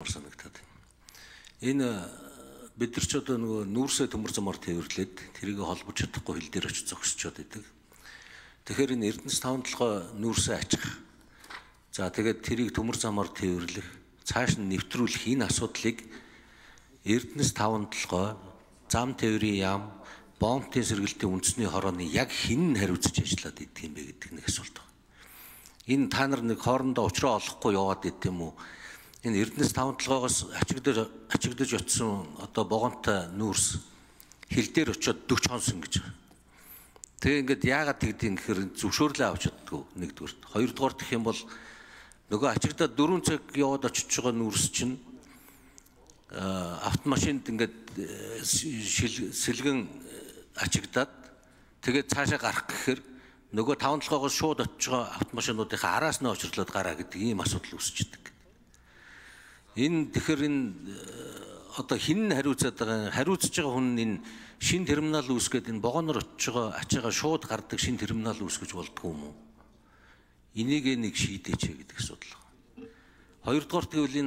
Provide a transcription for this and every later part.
санагдаад байна. Энэ бид нар ч одоо нөгөө нүүрсээ төмөр замаар тээвэрлээд тэрийг холбож чадахгүй хил дээр очиж зогсчод идэг. Тэгэхээр энэ Эрдэнэс 5-7 нүүрсээ ачих. За тэгээд тэрийг төмөр замаар тээвэрлэх, цааш нь нэвтрүүлэх энэ асуудлыг Эрдэнэс 5-7 зам тээврийн яам, бомбын сэргэлтийн үндэсний хорооны яг хэн хариуцж ажиллаад идэх юм бэ гэдэг нэг асуулт байна. Энэ та нар нэг хоорондоо уучраа олохгүй яваад идэв юм уу? Энэ Эрдэнэс 5-7-оос ачигдаж очсон одоо богонтой нүүрс хил дээр очиод 40 хонсон гэж. Тэгээ ингээд яагаад тэгдэм гэхээр зөвшөөрлөө авч чаддгүй нэгдүгээр. Хоёрдугаар гэх юм бол нөгөө ачигдаад 4 цаг яваад очиж байгаа нүүрс чинь автомашинд ингээд сэлгэн ачигдаад тэгээд цаашаа гарах гэхээр нөгөө 5-7-оос шууд очиж байгаа автомашинуудынхаа араас нь очирлоод гараа гэдэг ийм асуудал үүсчихдээ. Энэ тэгэхээр энэ одоо хин хариуцаад байгаа хариуцж байгаа хүн энэ шин терминал үүсгээд энэ богоноор очиж байгаа ачаага шууд гардаг шин терминал үүсгэж болдгоо юм уу? Энийг нэг шийдээч гэдэг асуудал байна. Хоёрдугаар тэгвэл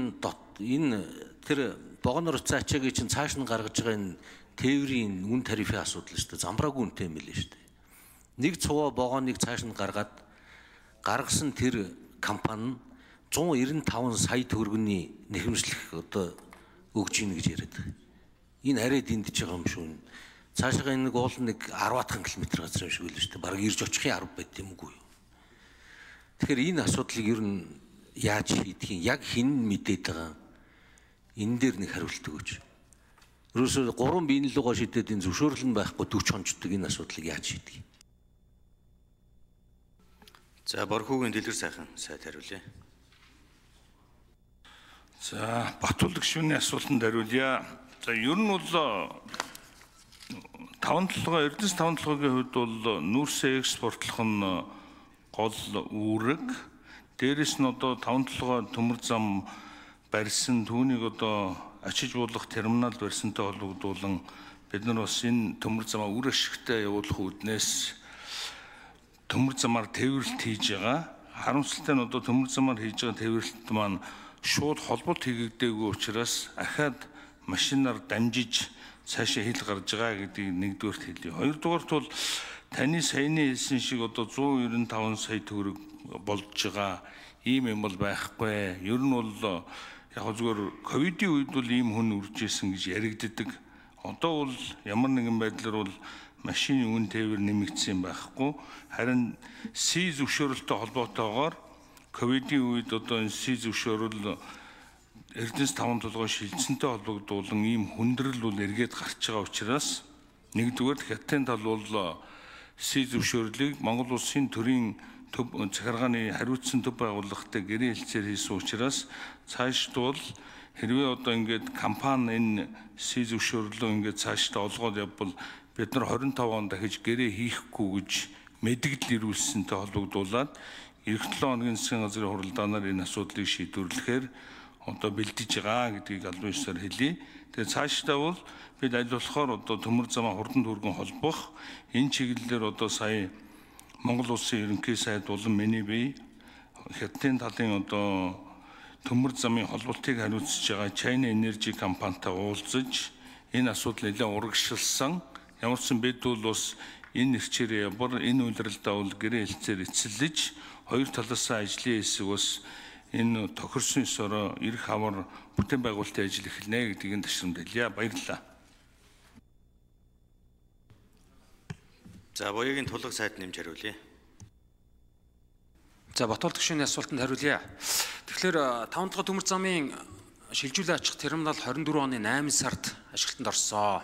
энэ тэр богоноор очиж ачаагийн чинь цааш нь гаргаж байгаа энэ тээврийн үн тарифын асуудал шүү дээ. Замбраагүй үнэтэй юм билээ шүү дээ. Нэг цуваа богоныг цааш нь гаргасан тэр компани 195 сая төгрөгийн нэхэмжлэх одоо өгж ийн гэж яриад байгаа. Энэ арай дэндэж байгаа юм шүү. Цаашаа энэ уул нэг 10 км газар юм шиг л шүү дээ. Бараг ирж очихын 10 байт юм уу? Тэгэхээр энэ асуудлыг ер нь яаж шийдэх юм? Яг хэн мэдээд байгаа? Энэ дээр нэг хариулт өгөөч. Ерөөсөө 3 биеийн лугаа шийдээд энэ зөвшөөрөл нь байхгүй 40 хонждаг энэ асуудлыг яаж шийдэх юм? За Борхүүгийн дэлгэр сайхан сайд хариулъя. За Батулд гишүүний асуултанд хариулъя. За ер нь бол 5-7 Эрдэнэс 5-7-гийн хувьд бол нүүрсээ экспортлох нь гол үүрэг. Дээрээс нь одоо 5-7 төмөр зам барьсан түүнийг одоо ачиж буулгах терминал барьсантай холбогдуулан бид нар бас энэ төмөр замаа үр ашигтай явуулах үүднээс төмөр замаар тээвэрлэлт хийж байгаа. Харамсалтай нь одоо төмөр замаар хийж байгаа тээвэрлэлт маань шууд холболт хийгдээгүй учраас ахаад машинаар дамжиж цаашаа хил гарч байгаа гэдгийг нэгдүгээрт хэлье. Хоёрдугаарт бол таны саяны хэлсэн шиг одоо 195 сая төгрөг болж байгаа ийм юм бол байхгүй. Ер нь бол яг зүгээр ковидын үед бол ийм хүн үржижсэн гэж яригддаг. Одоо бол ямар нэгэн байдлаар бол машины үн тээвэр нэмэгдсэн байхгүй. Харин Си зөвшөөрөлтөй холбоотойгоор ковидын үед одоо энэ Си зөвшөөрөл Эрдэнэс 5-7 шилжсэнтэй холбогдуулан ийм хүндрэл бол эргээд гарч байгаа учраас нэгдүгээр хятадын тал бол Си зөвшөөрлийг Монгол улсын төрийн төв захиргааны хариуцсан төв байгууллагатай гэрээ хэлцээр хийсэн учраас цаашд бол хэрвээ одоо ингээд компани энэ Си зөвшөөрлөө ингээд цаашдаа олгоод явбал бид нар 25 он дахиж гэрээ хийхгүй гэж мэдгэл ирүүлсэнтэй холбогдуулаад эх 7 хоногийн засгийн газрын хуралдаанаар энэ асуудлыг шийдвэрлэхээр одоо бэлдэж байгаа гэдгийг албан ёсоор хэлье. Тэгээ цаашдаа бол бид аль болохоор одоо төмөр замаа хурдан түргэн холбох энэ чиглэлээр одоо сая Монгол улсын ерөнхий сайд болон миний бие хятадын талын одоо төмөр замын холболтыг хариуцж байгаа China Energy компанитай уулзаж энэ асуудал нэлээд урагшилсан. Ямар ч юм бид бол бас энэ нэрчээр явбар энэ үйлрэлдээ бол гэрээ хэлцээр эцэлж хоёр талаасаа ажлын хэсэг бас энэ тохирсон ёсоор эрх хавар бүтээн байгуулалтын ажил эхэлнэ гэдгийг ташрамд хэлье. Баярлалаа. За Буяагийн тулга сайд нэмж хариулъя. За Батулд гишүүний асуултанд хариулъя. Тэгэхээр 5-7 төмөр замын шилжүүлэн ачих терминал 24 оны 8 сард ашиглалтанд орсон.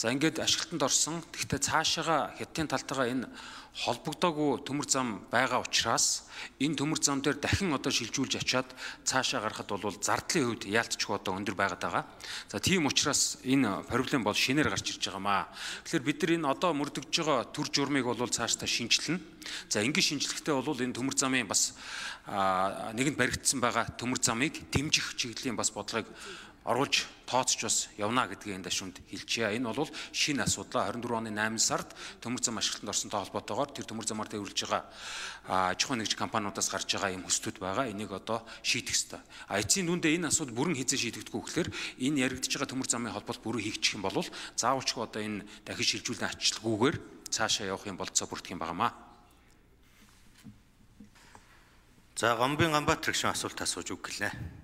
За ингээд ашиглалтанд орсон. Гэхдээ цаашаага хятадын талтайгаа энэ холбогдоогүй төмөр зам байгаа учраас энэ төмөр зам дээр дахин одоо шилжүүлж очиад цаашаа гарахад бол зардлын хувьд яалтчгүй одоо өндөр байгаад байгаа. За тийм учраас энэ проблем бол шинээр гарч ирж байгаамаа. Тэгэхээр бид нар энэ одоо мөрдөгж байгаа төр журмыг бол цаашдаа шинжилнэ. За энгийн шинжилгээтэй бол энэ төмөр замын бас нэгэнд баригдсан байгаа төмөр замыг дэмжих чиглэлийн бас бодлогыг оруулж тооцож бас явна гэдгийг энэ дашуунд хэлчихье. Энэ бол шинэ асуудал. 24 оны 8 сард төмөр зам ашиглалтанд орсонтой холбоотойгоор тэр төмөр замаар төвлөрж байгаа аж ахуйн нэгж компаниудаас гарч байгаа юм хүслүүд байгаа. Энийг одоо шийдэх ёстой. Эцсийн дүндээ энэ асуудал бүрэн хязгаар шийдэгдэхгүй гэхээр энэ яригдж байгаа төмөр замын холбоот бүрэн хийгдчих юм бол заавалчгүй одоо энэ дахин шилжүүлэн ачлалгүйгээр цаашаа явах юм болцоо бүрдэх юм байнамаа. За Гомбын Ганбаатар гишүүн асуулт асууж үг гэлээ.